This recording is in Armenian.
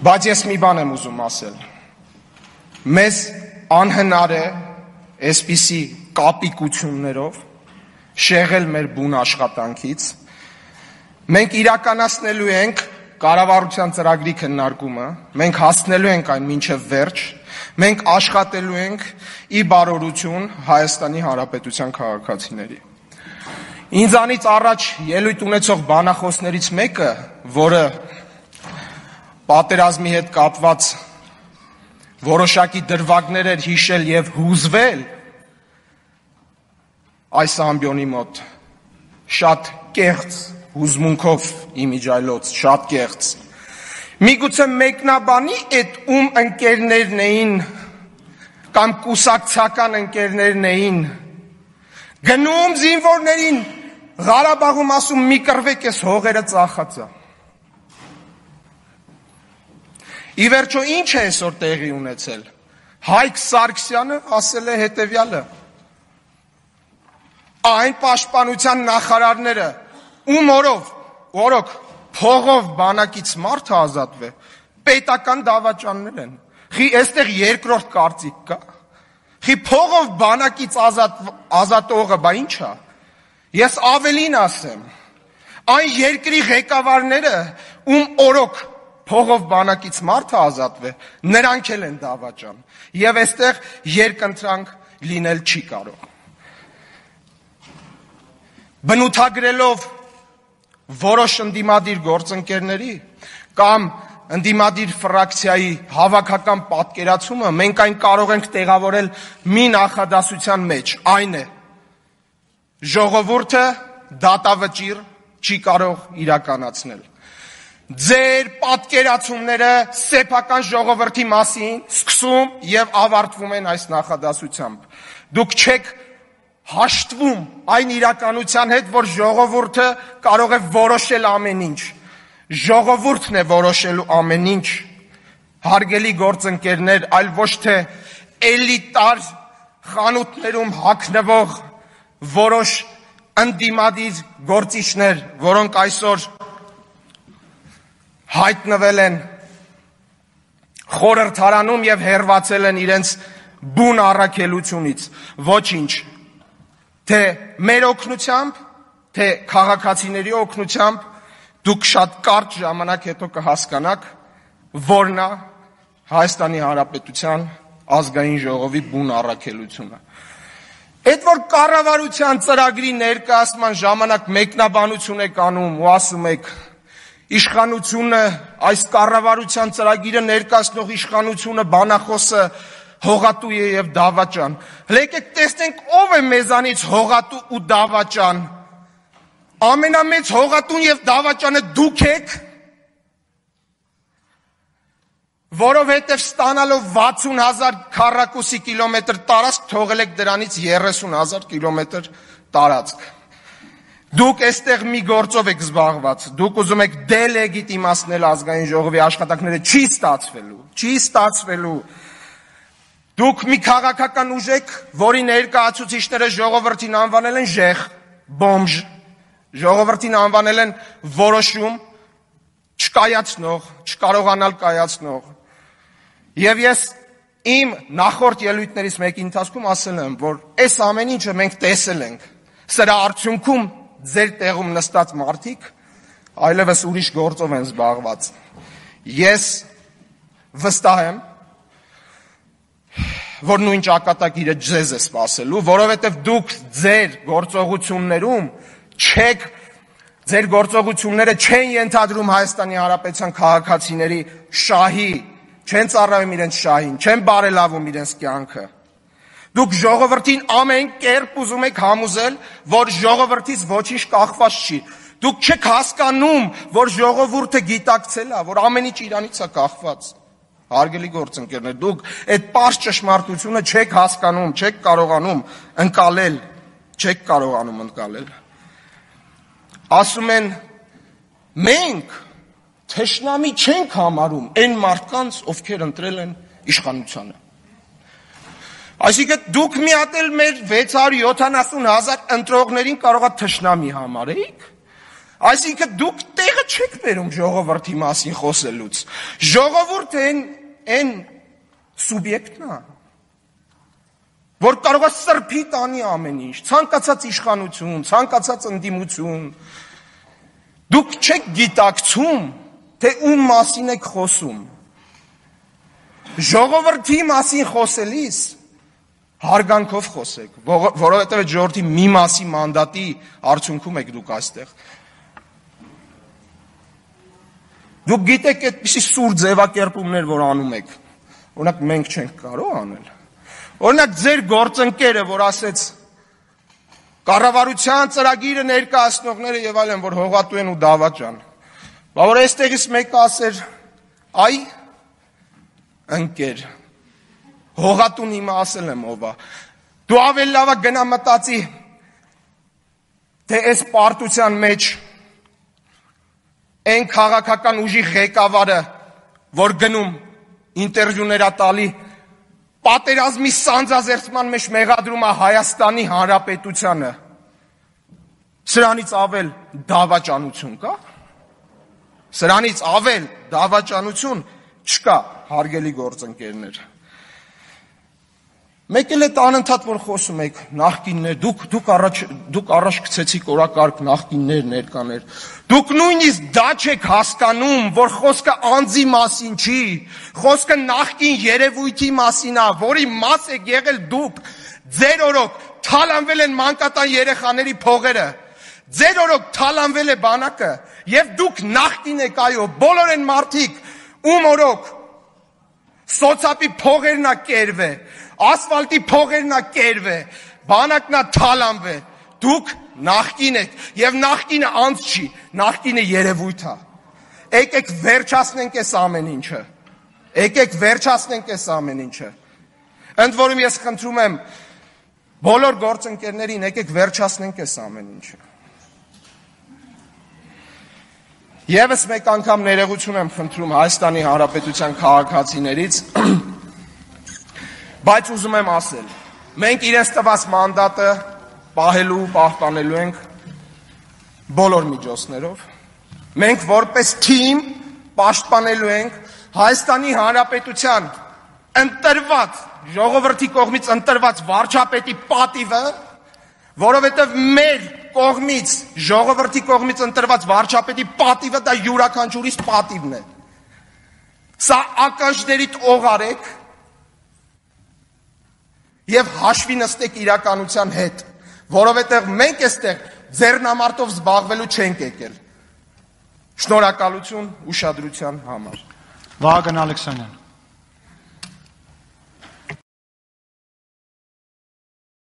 Բայց ես մի բան եմ ուզում ասել, մեզ անհնար է այսպիսի կապիկություններով շեղել մեր բուն աշխատանքից, մենք իրականացնելու ենք կառավարության ծրագրի քննարկումը, մենք հասնելու ենք այն մինչև վերջ, մենք աշխատելու ենք ի բարօրություն Հայաստանի Հանրապետության քաղաքացիների։ Ինձանից առաջ ելույթ ունեցող բանախոսներից մեկը, որը պատերազմի հետ կապված որոշակի դրվագներ էր հիշել եւ հուզվել այս ամբիոնի մոտ, շատ կեղծ հուզմունքով իմիջայլոց, շատ կեղծ։ Միգուցե մեկնաբանի այդ ում ընկերներն էին կամ կուսակցական ընկերներն էին գնում զինվորներին Ղարաբաղում ասում մի կռվեք ես հողերը ծախածա։ Ի վերջո ինչ է այսօր տեղի ունեցել։ Հայկ Սարգսյանը ասել է հետևյալը. այն պաշտպանության նախարարները ում օրոք փողով բանակից մարդը ազատվե, պետական դավաճաններ են։ Խի այստեղ երկրորդ կարծիք կա։ Խի փողով բանակից ազատողը բա ինչ է։ Ես ավելին ասեմ, այն երկրի ղեկավարները ում օրոք փողով բանակից մարդը ազատվե, նրանք էլ են դավաճան։ Եվ այստեղ երկընտրանք լինել չի կարող։ Բնութագրելով որոշ ընդդիմադիր գործընկերների կամ ընդդիմադիր ֆրակցիայի հավաքական պատկերացումը, մենք այն կարող ենք տեղավորել մի նախադասության մեջ, այն է. ժողովուրդը դատավճիռ չի կարող իրականացնել։ Ձեր պատկերացումները սեփական ժողովրդի մասին սկսում եւ ավարտվում են այս նախադասությամբ։ Դուք չեք հաշտվում այն իրականության հետ, որ ժողովուրդը կարող է որոշել ամեն ինչ։ Ժողովուրդն է որոշելու ամեն ինչ։ Հարգելի գործընկերներ, այլ ոչ թե էլիտար խանութներում հագնվող որոշ ընդդիմադիր գործիչներ, որոնք այսօր հայտնվել են խորհրդարանում եւ հերվածել են իրենց բուն առաքելությունից, ոչինչ, թե մեր օգնությամբ, թե քաղաքացիների օգնությամբ, դուք շատ կարճ ժամանակ հետո կհասկանաք, որն է Հայաստանի Հանրապետության ազգային ժողովի բուն առաքելությունը։ Այդ որ կառավարության ծրագրի ներկայացման ժամանակ մեկնաբանություն եք անում ու ասում եք իշխանությունը, այս կառավարության ծրագիրը ներկայացնող իշխանությունը, բանախոսը հողատու է եւ դավաճան։ Եկեք տեսնենք ով է մեզանից հողատու ու դավաճան։ Ամենամեծ հողատուն եւ դավաճանը դուք եք, որովհետև ստանալով 60,000 քառակուսի կիլոմետր տարածք թողել եք դրանից 30,000 կիլոմետր տարածք։ Դուք այստեղ մի գործով եք զբաղված, դուք ուզում եք դելեգիտիմացնել ազգային ժողովի աշխատանքները, չի ստացվելու։ Դուք մի քաղաքական ուժ եք, որի ներկայացուցիչները ժողովրդին անվանել են ժեխ, բոմժ, ժողովրդին անվանել են որոշում չկայացնող, չկարողանալ կայացնող։ Եվ ես իմ նախորդ ելույթներից մեկի ընթացքում ասել եմ, որ այս ամեն ինչը մենք տեսել ենք, սրա արդյունքում ձեր տեղում նստած մարդիկ այլևս ուրիշ գործով են զբաղված։ Ես վստահ եմ, որ նույն ճակատագիրը ձեզ է սպասելու, որովհետև դուք ձեր գործողություններում չեք, ձեր գործողությունները չեն ենթադրում Հայաստանի Հանրապետության քաղաքացիների շահի, չեն ծառայում իրենց շահին, չեն բարելավում իրենց կյանքը։ Դուք ժողովրդին ամեն կերպ ուզում եք համոզել, որ ժողովրդից ոչինչ կախված չի։ Դուք չեք հասկանում, որ ժողովուրդը գիտակցել է, որ ամեն ինչ իրանից է կախված։ Հարգելի գործընկերներ, դուք այդ պարզ ճշմարտությունը չեք հասկանում, չեք կարողանում ընկալել։ Ասում են, մենք թշնամի չենք համարում այն մարդկանց, ովքեր ընտրել են իշխանությանը։ Այսինքն դուք մի հատ էլ մեր 670,000 ընտրողներին կարող է թշնամի համարեիք, Այսինքն դուք տեղը չեք բերում ժողովրդի մասին խոսելուց։ Ժողովուրդը այն սուբյեկտն է, որ կարող է սրբի տանի ամեն ինչ, ցանկացած իշխանություն, ցանկացած ընդդիմություն։ Դուք չեք գիտակցում, թե ում մասին եք խոսում։ Ժողովրդի մասին խոսելիս հարգանքով խոսեք, որովհետև այդ ժողովրդի մի մասի մանդատի արդյունքում եք դուք այստեղ։ Դուք գիտեք այդպիսի սուր ձևակերպումներ, որ անում եք, օրինակ մենք չենք կարող անել։ Օրինակ ձեր գործընկերը, որ ասեց կառավարության ծրագիրը ներկայացնողները եւ այլն, որ հողատու են ու դավաճան։ Բա որ այստեղից մեկը ասեր, այ ընկեր, հողատուն իմը ասել եմ ով է։ Դու ավելի լավ է գնա մտածի, թե այս պարտության մեջ այն քաղաքական ուժի ղեկավարը, որ գնում ինտերվյուներ տալի, պատերազմի սանձազերծման մեջ մեղադրում է Հայաստանի Հանրապետությանը, սրանից ավել դավաճանություն կա։ Սրանից ավել դավաճանություն չկա, հարգելի գործընկերներ։ Մեկ էլ այդ անընդհատ որ խոսում եք նախկիններ, դուք առաջ գցեցիք օրակարգ նախկիններ, ներկաներ։ Դուք նույնիսկ դա չեք հասկանում, որ խոսքը անձի մասին չի, խոսքը նախկին երևույթի մասին է, որի մաս եք եղել դուք։ Ձեր օրոք թալանվել են մանկատան երեխաների փողերը, ձեր օրոք թալանվել է բանակը, եւ դուք նախկին եք, այո, բոլոր են մարդիկ, ում օրոք սոցապի փողերն է կերվե, ասֆալտի փողերն է կերվե, բանակն է թալանվե, դուք նախկին եք, եւ նախկինը անց չի, նախկինը երևույթ է։ Եկեք վերջացնենք այս ամեն ինչը։ Եկեք վերջացնենք այս ամեն ինչը։ Ընդ որում ես խնդրում եմ բոլոր գործընկերներին, եկեք վերջացնենք այս ամեն ինչը։ Եվս մեկ անգամ ներողություն եմ խնդրում Հայաստանի Հանրապետության քաղաքացիներից, բայց ուզում եմ ասել, մենք իրենց տված մանդատը պահելու, պահպանելու ենք բոլոր միջոցներով, մենք որպես թիմ պաշտպանելու ենք Հայաստանի Հանրապետության ընտրված, ժողովրդի կողմից ընտրված վարչապետի պատիվը, որովհետև մեր կողմից, ժողովրդի կողմից ընտրված վարչապետի պատիվը դա յուրաքանչյուրիս պատիվն է։ Սա ականջներիդ օղարեք եւ հաշվի նստեք իրականության հետ, որովհետև մենք այստեղ ձեռնամարտով զբաղվելու չենք եկել։ Շնորհակալություն ուշադրության համար։ Վահագն Ալեքսանյան